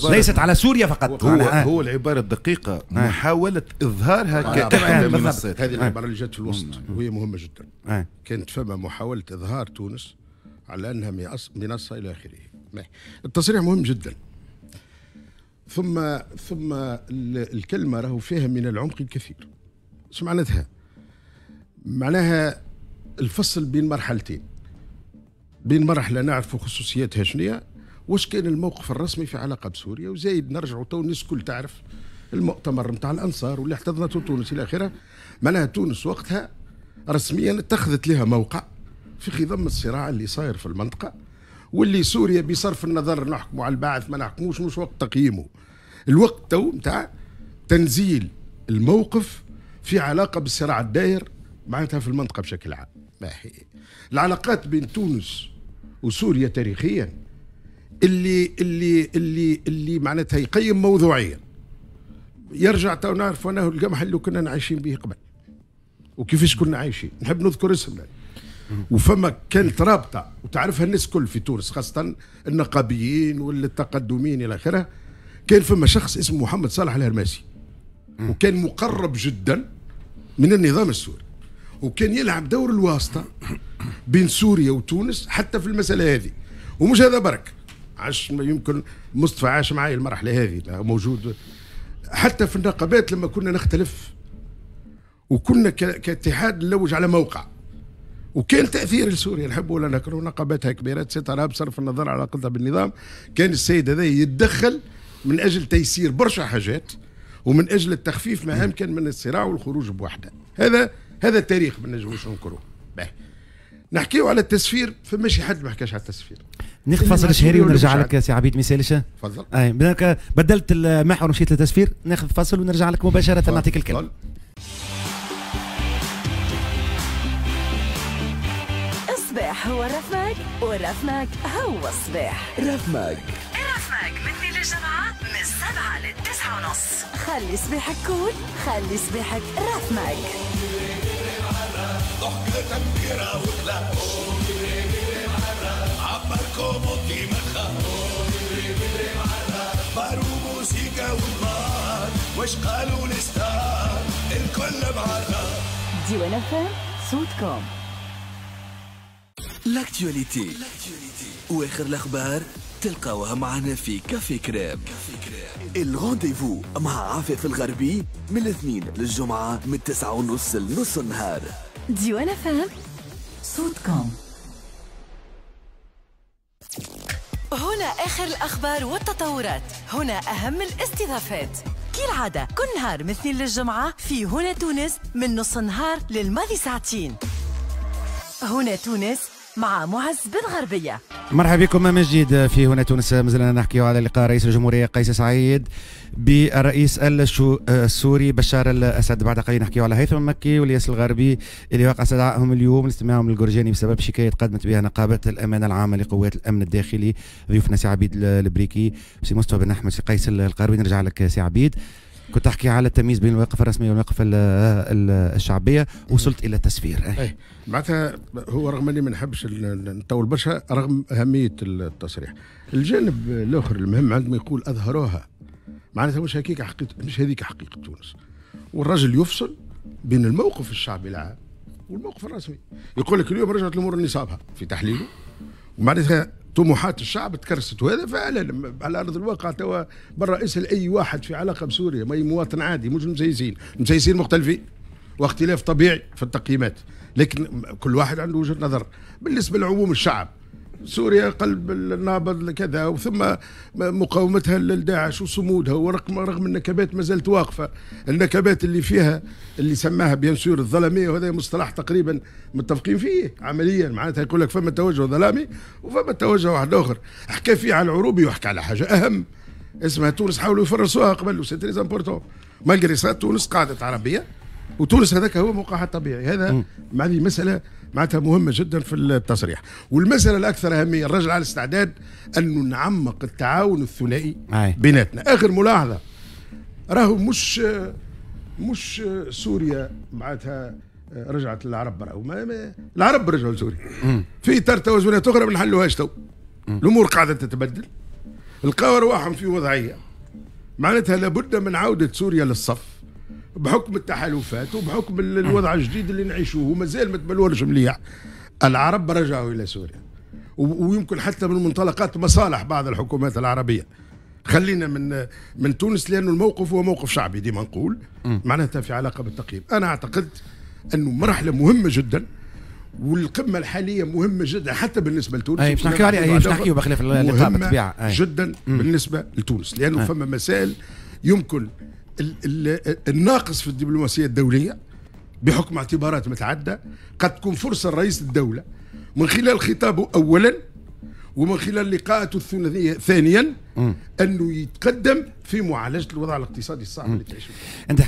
ليست على سوريا فقط. هو العبارة الدقيقة محاولة إظهارها كإحدى المنصات. هذه العبارة اللي جت في الوسط وهي مهمة جدا. كانت فما محاولة إظهار تونس على أنها منصة إلى آخره. التصريح مهم جدا. ثم الكلمة راهو فيها من العمق الكثير. شو معناتها؟ معناها الفصل بين مرحلتين، بين مرحلة نعرف خصوصياتها شنية، واش كان الموقف الرسمي في علاقة بسوريا، وزايد نرجعوا تو الناس الكل تعرف المؤتمر نتاع الأنصار واللي احتضنته تونس إلى آخره. معناها تونس وقتها رسميا اتخذت لها موقع في خضم الصراع اللي صاير في المنطقة، واللي سوريا بصرف النظر نحكموا على البعث ما نحكموش، مش وقت تقييمه، الوقت تو نتاع تنزيل الموقف في علاقة بالصراع الداير معناتها في المنطقة بشكل عام. العلاقات بين تونس وسوريا تاريخيا اللي اللي اللي اللي معناتها يقيم موضوعيا يرجع تو نعرف انه القمح اللي كنا عايشين به قبل وكيفاش كنا عايشين. نحب نذكر اسم وفما كانت رابطه وتعرفها الناس كل في تونس، خاصة النقابيين والتقدميين الى اخره. كان فما شخص اسمه محمد صالح الهرماسي، وكان مقرب جدا من النظام السوري، وكان يلعب دور الواسطة بين سوريا وتونس حتى في المسالة هذه. ومش هذا برك، عاش يمكن مصطفى عاش معي المرحلة هذه، موجود حتى في النقابات لما كنا نختلف وكنا كاتحاد نلوج على موقع، وكان تاثير لسوريا نحب ولا نكره، نقاباتها كبيرة سترى بصرف النظر على علاقتها بالنظام، كان السيد هذا يتدخل من اجل تيسير برشا حاجات ومن اجل التخفيف ما امكن من الصراع والخروج بوحده. هذا التاريخ ما نجموش ننكروه. نحكيو على التسفير، فماشي حد ما حكاش على التسفير. ناخذ فاصل شهري ونرجع لك سي عبيد ميسالش. تفضل. اي بدلت المحور ومشيت للتسفير، ناخذ فاصل ونرجع لك مباشرة نعطيك الكلمة. الصباح هو رفمك، ورفمك هو الصباح. رفمك رفمك من اثنين للجمعة من 7 ل 9:30. خلي صباحك cool، خلي صباحك رفمك. ديوان FM صوتكم. l'actualité واخر الاخبار تلقاوها معنا في café crème. ال rendez-vous مع عفاف الغربي من الاثنين للجمعة من 9:30 لنص النهار. ديوان FM صوتكم. هنا آخر الأخبار والتطورات، هنا أهم الاستضافات. كالعادة كل نهار من اثنين للجمعة في هنا تونس من نص النهار للماضي ساعتين. هنا تونس مع معز بن غربية. مرحبا بكم من جديد في هنا تونس. مازلنا نحكي على لقاء رئيس الجمهورية قيس سعيد بالرئيس السوري بشار الأسد. بعد قليل نحكي على هيثم المكي والياس الغربي اللي وقع استدعائهم اليوم لاستماعهم للجرجاني بسبب شكاية قدمت بها نقابة الأمانة العامة لقوات الأمن الداخلي. ضيوفنا سي عبيد البريكي، سي مصطفى بن أحمد، سي قيس القروي. نرجع لك سي عبيد، كنت تحكي على التمييز بين المواقف الرسمية والمواقف الشعبية، وصلت الى التسفير. اي معناتها هو رغم اني ما نحبش نطول برشا رغم اهمية التصريح، الجانب الاخر المهم عندما يقول اظهروها معناتها مش هكيك حقيقة، مش هذيك حقيقة تونس. والرجل يفصل بين الموقف الشعبي العام والموقف الرسمي. يقول لك اليوم رجعت الامور لنصابها في تحليله، ومعناتها طموحات الشعب تكرست، وهذا فعلا على ارض الواقع. توا برا اسال اي واحد في علاقة بسوريا، ما مواطن عادي، مش مسيسين، مسيسين مختلفين واختلاف طبيعي في التقييمات، لكن كل واحد عنده وجهه نظر. بالنسبة لعموم الشعب سوريا قلب النابض كذا، وثم مقاومتها لداعش وصمودها، ورغم النكبات ما زالت واقفة، النكبات اللي فيها اللي سماها bien sûr الظلاميه، وهذا مصطلح تقريبا متفقين فيه عمليا، معناتها يقول لك فما توجه ظلامي وفما توجه واحد اخر. حكى فيه على العروبي وحكى على حاجة اهم اسمها تونس، حاولوا يفرسوها قبل، و c'est très important. malgré ça تونس قعدت عربية، وتونس هذاك هو موقعها الطبيعي. هذا هذه مسالة معناتها مهمة جدا في التصريح. والمسألة الأكثر أهمية، الرجل على استعداد أنه نعمق التعاون الثنائي بيناتنا. آخر ملاحظة، راهو مش سوريا معناتها رجعت للعرب، راهو العرب رجعوا لسوريا في إطار توازنات أخرى ما نحلوهاش تو. الأمور قاعدة تتبدل، لقاو ارواحهم في وضعية معناتها لابد من عوده سوريا للصف بحكم التحالفات وبحكم الوضع الجديد اللي نعيشوه ومازال ما تبلورش مليح. العرب رجعوا الى سوريا، ويمكن حتى من منطلقات مصالح بعض الحكومات العربية. خلينا من تونس، لانه الموقف هو موقف شعبي ديما نقول، معناتها في علاقة بالتقييم. انا اعتقد انه مرحلة مهمة جدا، والقمه الحالية مهمة جدا حتى بالنسبة لتونس. اي باش نحكيو عليها، باش نحكيو بخلاف اللقاء بالطبيعة جدا بالنسبة لتونس، لانه فما مسائل يمكن الناقص في الدبلوماسية الدولية بحكم اعتبارات متعددة قد تكون فرصة لرئيس الدولة من خلال خطابه اولا ومن خلال لقاءاته الثنائية ثانيا انه يتقدم في معالجة الوضع الاقتصادي الصعب اللي تعيشه. انت